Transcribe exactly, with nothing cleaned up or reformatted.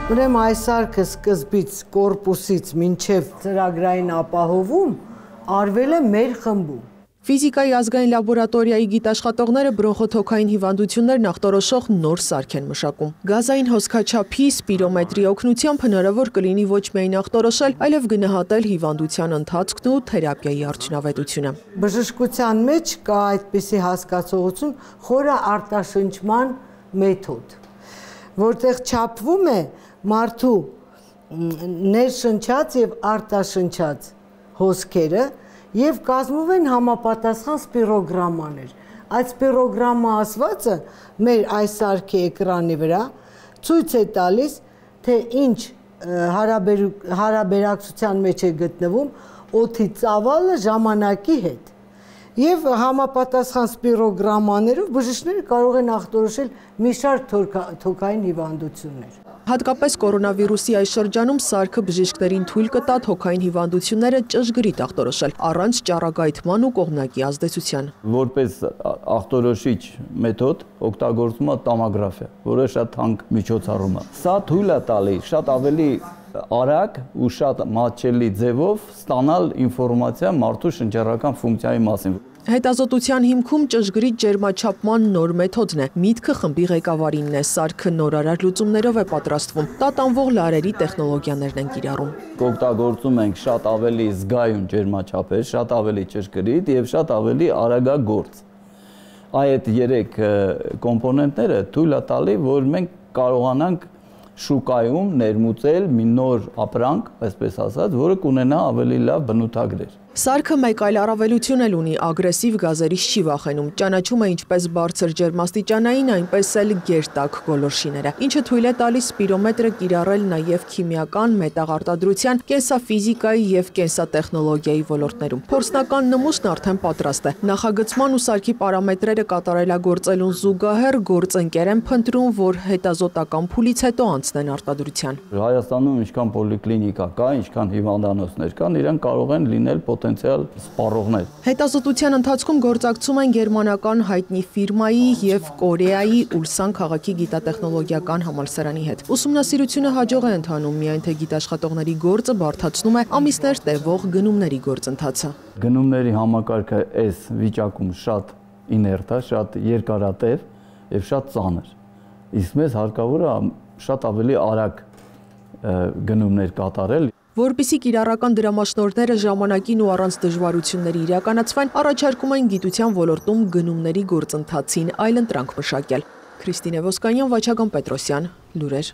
Ուրեմն այս սարքը սկզբից կորպուսից մինչև ծրագրային ապահովում արվել է մեր խմբում։ Ֆիզիկայի ազգային լաբորատորիայի գիտաշխատողները բրոնխոթոքային հիվանդություններն ախտորոշող նոր սարք են մշակում։ Գազային հոսքաչափի սպիրոմետրի օգնությամբ հնարավոր կլինի ոչ միայն ախտորոշել, այլև գնահատել հիվանդության ընթացքն ու թերապիայի արդյունավետությունը։ Բժշկության մեջ կա այդպիսի հասկացողություն խորը արտաշնչման մեթոդ, որտեղ չափվում է մարդու ներշնչած եւ արտաշնչած հոսքերը եւ կազմում են համապատասխան սպիրոգրամաներ։ Այդ սպիրոգրամա ասվածը մեր այս սարքի էկրանի վրա ցույց է տալիս, թե ինչ հարաբերակցության մեջ է գտնվում օդի ծավալը ժամանակի հետ։ Եվ համապատասխան սպիրոգրամաներով բժիշկները կարող են ախտորոշել մի շարք թոքային հիվանդություններ։ Հատկապես կորոնավիրուսի այս շրջանում սարքը բժիշկներին թույլ կտա թոքային հիվանդությունները ճշգրիտ ախտորոշել, առանց ճառագայթման ու կողմնակի ազդեցության։ Որպես ախտորոշիչ մեթոդ օգտագործվում է տոմոգրաֆիա, որը շատ թանկ միջոցառում է։ Սա թույլ է տալի շատ ավելի արագ ու շատ մատչելի ձևով ստանալ ինֆորմացիա մարդու շնչառական ֆունկցիայի մասին։ Հետազոտության հիմքում ճշգրիտ ջերմաչափման նոր մեթոդն է։ Միտքը խմբի ղեկավարինն է, սարքը նորարար լուծումներով է պատրաստվում, տատանվող լարերի տեխնոլոգիաներն են կիրառում։ Օգտագործում ենք շատ ավելի զգայուն ջերմաչափեր, շատ ավելի ճշգրիտ եւ շատ ավելի արագագործ։ Այդ երեք կոմպոնենտները թույլ է տալի, որ մենք կարողանանք շուկայում ներմուծել մի նոր ապրանք, այսպես ասած, որը կունենա ավելի լավ բնութագրեր։ Սարքը մեկ այլ առավելություն էլ ունի, ագրեսիվ գազերից չի վախենում, ճանաչում է ինչպես բարձր ջերմաստիճանային, այնպես էլ գերտակ գոլորշիները, ինչը թույլ է տալիս սպիրոմետրը կիրառել նաև քիմիական, մետաղարտադրության, կենսաֆիզիկայի եւ կենսատեխնոլոգիայի ոլորտներում։ Փորձնական նմուշն արդեն պատրաստ է։ Նախագծման ու սարքի պարամետրերը կատարելագործելուն զուգահեռ գործընկեր են փնտրում, որ հետազոտական փուլից հետո անցնեն արտադրության։ Հայաստանում ինչքան պոլիկլինիկա կա, ինչքան հիվանդանոցներ կան, իրենք կարող են լինել պոտենցիալ սպառողներ։ Հետազոտության ընթացքում գործակցում են գերմանական հայտնի ֆիրմայի եւ Կորեայի Ուլսան քաղաքի գիտատեխնոլոգիական համալսարանի հետ։ Ուսումնասիրությունը հաջող է ընթանում, միայն թե գիտաշխատողների գործը բարդացնում է ամիսներ տևող գնումների գործընթացը։ Գնումների համակարգը այս վիճակում շատ իներտ է, շատ երկարատև եւ շատ ծանր։ Իսկ մեզ հարկավոր է շատ ավելի արագ գնումներ կատարել։ Որպեսզի կիրառական դրամաշնորհները ժամանակին ու առանց դժվարությունների իրականացվեն, առաջարկում են գիտության ոլորտում գնումների գործընթացին այլընտրանք մշակել։ Քրիստինե Ոսկանյան, Վաչագն Պետրոսյան, լուրեր։